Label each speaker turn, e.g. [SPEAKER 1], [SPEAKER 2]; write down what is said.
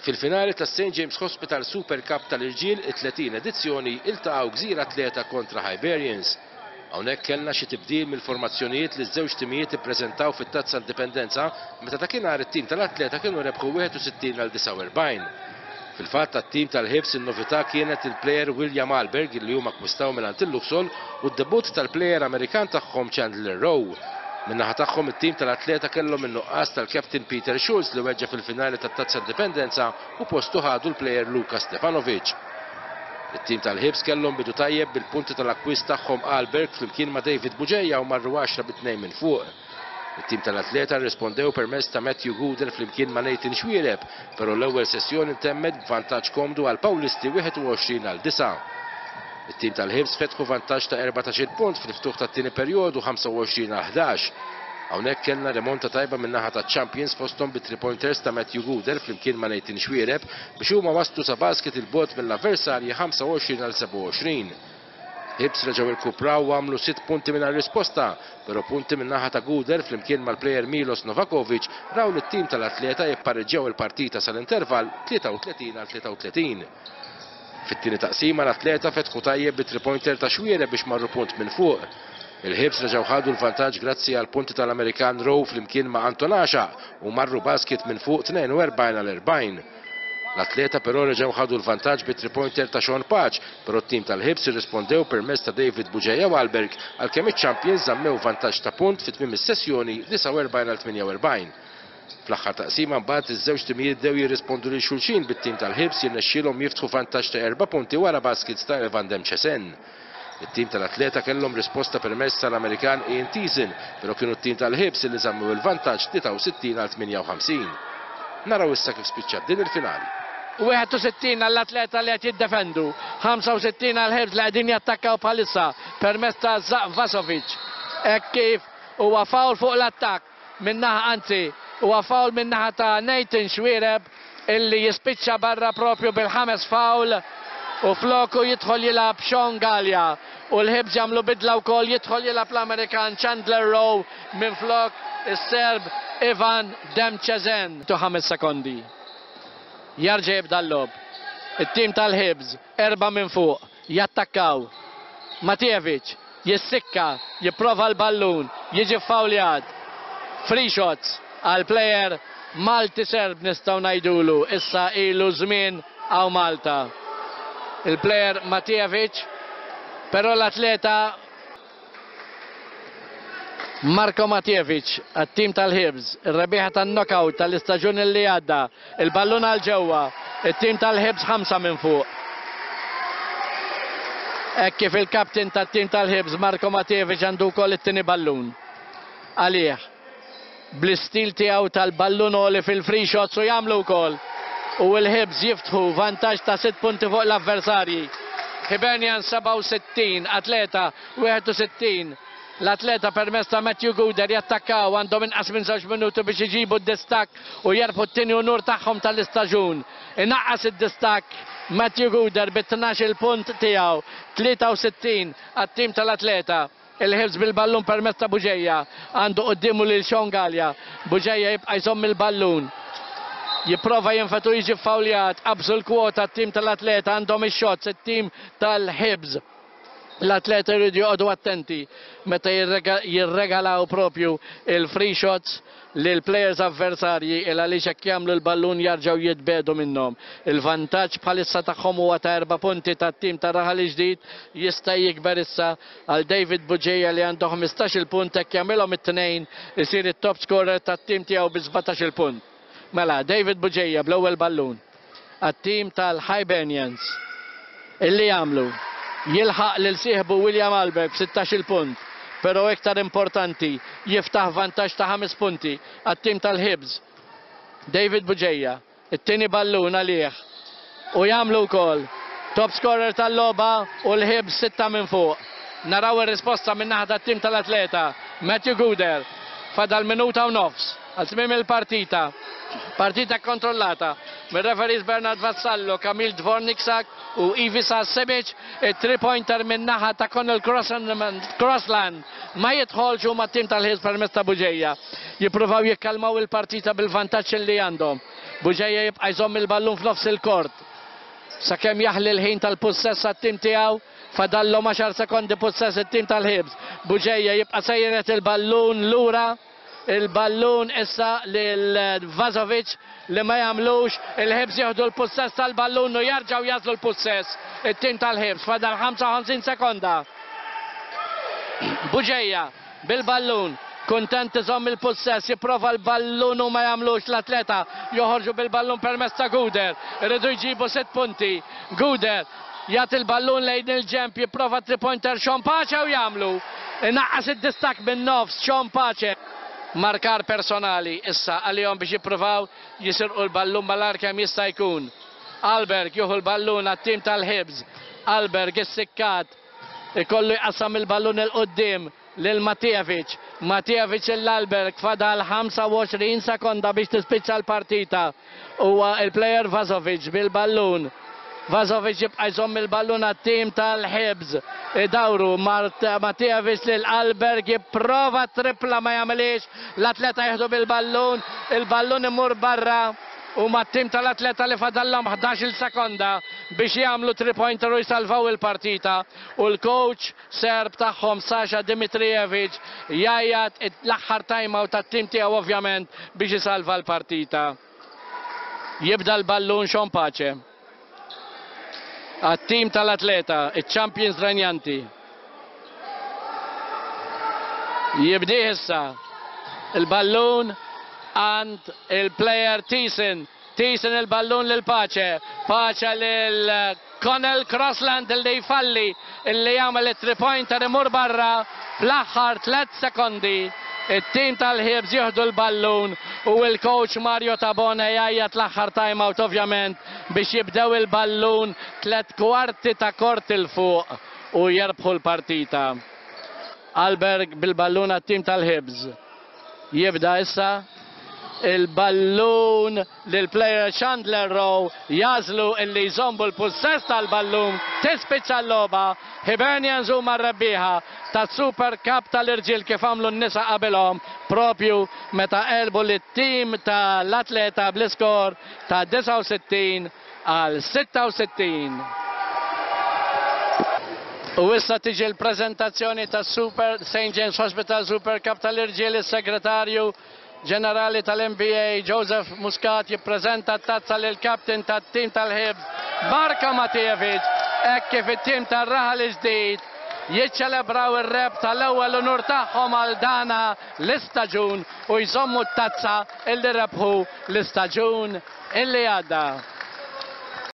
[SPEAKER 1] Fil-finali tas-St James Hospital Super Cup tal-irġiel, it-30 edizzjoni, iltaqgħu Gżira Athleta kontra Hibernians. Hawnhekk kellna xi tibdil mill-formazzjonijiet li ż-żewġ timijiet ippreżentaw fit-Tazza Indipendenza meta dakinhar it-tim tal-Athleta kienu rebħu 61 għal 49. Fil-fatt għat-tim tal-Hibs in-novità kienet il-plejer William Ahlberg li huma akkwistaw mingħand il-Luxol u d-debutt tal-plejer Amerikan tagħhom Chandler Rowe. Min-naħa tagħhom it-tim tal-Athleta kellhom in-nuqqas tal-captain Peter Schulz li weġġa' fil-finali tat-Tazza Indipendenza u postu ħadu l-plejer Luka Stefanovic. It-tim tal-Hibs kellhom bidu tajjeb bil-punti tal-akkwist tagħhom Ahlberg flimkien ma' David Bugeja u marru għaxra bi tnejn minn fuq. It-tim tal-Athleta rrispondew permezz ta' Matthew Guder flimkien ma' Nathan Xuereb, però l-ewwel sessjoni ntemmet b'vantaġġ komdu għall-Pawlisti 21 għal 9. It-tim tal-Hibs fetħu vantaġġ ta' 14-il punt fil-ftuħ tat-tieni perjodu 25 għal 11. Hawnhekk kellna rimonta tajba min-naħa taċ-champions fosthom bi three pointers ta' Matthew Guder flimkien ma' Nathan Xuereb biex huma waslu sa basket 'il bogħod mill-avversarji 25 għal 27. Hibs reġgħu irkupraw u għamlu sitt punti mingħajr risposta, però punti min-naħa ta' Guder flimkien mal-plejer Milos Novakovic raw lit-tim tal-Athleta jippareġġjaw il-partita sal-intervall 33 għal 33. Fit-tieni taqsima l-Athleta fetħu tajjeb bi three-pointer ta' Xuereb biex marru punt minn fuq. Il-Hibs reġgħu ħadu l-vantaġġ grazzi għal punti tal-Amerikan Rowe flimkien ma' Anton Għaxaq u marru basket minn fuq 42 għal 40. L-Athleta però reġgħu ħadu l-vantaġġ bi three-pointer ta' Sean Pace, però t-tim tal-Hibs irrispondew permezz ta' David Bugeja Wahlberg għalkemm iċ-champions żammew vantaġġ ta' punt fi tmiem is-sessjoni 49 għal 48. Fl-aħħar taqsima mbagħad iż-żewġ timijiet bdew jirrispondu lil xulxin bit-tim tal-Hibs jirnexxielhom jiftħu vantaġġ ta' erba' punti wara baskets ta' Evan Demcesen. It-tim tal-Athleta kellhom risposta permezz tal-Amerikan Ian Thiessen, però kienu t-tim tal-Hibs li żammew il-vantaġġ 63 għal 58. Naraw issa kif spiċċat din il-finali.
[SPEAKER 2] 61 għall-Athleta li qed jiddefendu, 65 għall-Hibs li qegħdin jattakkaw bħalissa permezz ta' Zak Vasovic hekk kif huwa foul fuq l-attakk. min-naħa anzi huwa foul min-naħa ta' Nathan Xuereb illi jispiċċa barra propju bil-ħames foul u floku jidħol jilgħab Sean Galea u l-Hibs jagħmlu bidla wkoll jidħol jilgħab l-Amerikan Chandler Rowe minflok is-Serb Ivan Demchezen. Tu ħames sekondi. Jarġa' jibda l-logħob. It-tim tal-Hibs erba' minn fuq. Jattakkaw. Matijevic jissikka, jipprova l-ballun, jiġi ffawljat. Free shots għall-plejer Malti Serb nistgħu ngħidulu, issa ilu żmien hawn Malta. Il-plejer Matijevic, però l-atleta Marko Matijevic għat-tim tal-Hibs, ir-rebbieħa tan-knockout tal-istaġun li għadda, il-ballun għal ġewwa, it-tim tal-Hibs ħamsa minn fuq. Hekk kif il-captain tat-tim tal-Hibs Marko Matijevic għandu wkoll it-tieni ballun għalih. Bl-istil tiegħu tal-ballun għoli fil-free shots u jagħmlu wkoll. U l-Hibs jiftħu vantaġġ ta' sitt punti fuq l-avversarji. Hibernians 67, Athleta 61. L-Athleta permezz ta' Matthew Guder jattakkaw għandhom inqas minn żewġ minuti biex iġibu d-distakk u jerbħu t-tieni unur tagħhom tal-istaġun. Inaqqas id-distakk Matthew Guder bi 12-il punt tiegħu, 63 għat-tim tal-Athleta. Il-Hibs bil-ballun permezz ta' Bugeja. Għandu quddiemu lil Sean Galea. Bugeja jibqa' jżomm il-ballun. Jipprova jinfed u jiġi ffawljat. Qabżu l-kwota t-tim tal-Athleta għandhom ix-shots it-tim tal-Hibs. L-Athleta jridu joqogħdu attenti meta jirregalaw propju il-free shots lill-plejers avversarji il għaliex hekk jagħmlu l-ballun jarġgħu jitbiegħdu minnhom. Il-vantaġġ bħalissa tagħhom huwa ta' erba' punti tat-tim ta' Raħal il-Ġdid jista' jikber issa għal David Bugeja li għandu 15-il punt hekk jagħmilhom it-tnejn isir it-top scorer tat-tim tiegħu bi 17-il punt. Mela, David Bugeja bl-ewwel ballun għat-tim tal-Hibernians illi jagħmlu jilħaq lil sieħbu William Albert b'16-il punt, però iktar importanti jiftaħ vantaġġ ta' ħames punti għat-tim tal-Hibs. David Bugeja, it-tieni ballun għalih u jagħmlu wkoll top scorer tal-logħba u l-Hibs sitta minn fuq. Naraw ir-risposta min-naħa tat-tim tal-Athleta, Matthew Guder. Fadal minuta u nofs għal tmiem il-partita. Partita kkontrollata mir-referees Bernard Vassallo, Kamil Dvorniksak u Ivica Simic. It-three pointer min-naħa ta' Connell Crossland ma jidħolx u mat-tim tal-Hibs permezz ta' Bugeja jippruvaw jikkalmaw il-partita bil-vantaġġ li għandhom. Bugeja jibqa' jżomm il-ballun f'nofs il-kort. Sakemm jaħli l-ħin tal-pussess għat-tim tiegħu, fadallhom 10 sekondi pussess it-tim tal-Hibs. Bugeja jibqa' sejret il-ballun lura. Il-ballun issa lil Vazovic li ma jagħmlux. Il-Hibs jieħdu l-pussess tal-ballun u jarġgħu jagħżlu l-pussess it-tim tal-Hibs. Fadal 55 sekonda. Bugeja bil-ballun. Kuntent iżomm il-pussess, jipprova l-ballun u ma jagħmlux l-Atleta. Joħorġu bil-ballun permezz ta' Guder. Iridu jġibu 6 punti. Guder jagħti l-ballun lejn il-ġenb, jipprova three-pointer Sean Pace u jagħmlu. Inaqqas id-distakk min-nofs Sean Pace. Markar personali issa għalihom biex jippruvaw jisirqu l-ballun malajr kemm jista' jkun. Alberg jieħu l-ballun għat-tim tal-Hibs. Alberg issikkat ikollu jqassam il-ballun 'il quddiem lil Matijevic. Matijevic lil Alberg fadal 25 sekonda biex tispiċċa l-partita. Huwa il-plejer Vazovic bil-ballun. Vazovic jibqa' jżomm il-ballun għat-tim tal-Hibs. Idawru Matijevic lil Alberg jipprova tripla ma jagħmilhiex. L-Atleta jieħdu bil-ballun. Il-ballun imur barra. Huma t-tim tal-Atleta li fadallhom 11-il sekonda biex jagħmlu three pointer u jsalvaw il-partita u l-coach Serb tagħhom Sasha Dimitrijevic jgħajjat l-aħħar time out tat-tim tiegħu ovvjament biex isalva l-partita. Jibda l-ballun Sean Pace għat-tim tal-Atleta, iċ-champions renjanti. Jibdih issa il-ballun għand il-player Thiessen. Thiessen il-ballun lil Pace. Pace lil Connell Crossland li jfalli illi jagħmel it-three pointer imur barra fl-aħħar 3 sekondi. It-tim tal-Hibs jieħdu l-ballun u l-coach Mario Tabone jgħajjat l-aħħar time out ovvjament biex jibdew il-ballun 3 kwarti ta' kort 'il fuq u jerbħu l-partita. Alberg bil-ballun għat-tim tal-Hibs. Jibda issa il-ballun lill-player Chandler Rowe jagħżlu illi jżommu l-pussess tal-ballun tispiċċa l-logħba. Hibernians huma r-rebbieħa tas-Super Cup tal-irġiel kif għamlu n-nisa qabilhom propju meta għelbu lit-tim tal-Atleta bl-iskor ta' 69 għal 66. U issa tiġi l-preżentazzjoni tas-Super St James Hospital Super Cup tal-irġiel is-Segretarju Ġenerali tal-MBA Joseph Muscat jippreżenta t-tazza lill-captain tat-tim tal-Hibs Marko Matijevic hekk kif it-tim tar-Raħal il-Ġdid jiċċelebraw ir-rebħ tal-ewwel unur tagħhom għal dana l-istaġun u jżommu t-tazza illi rebħu l-istaġun illi għadda.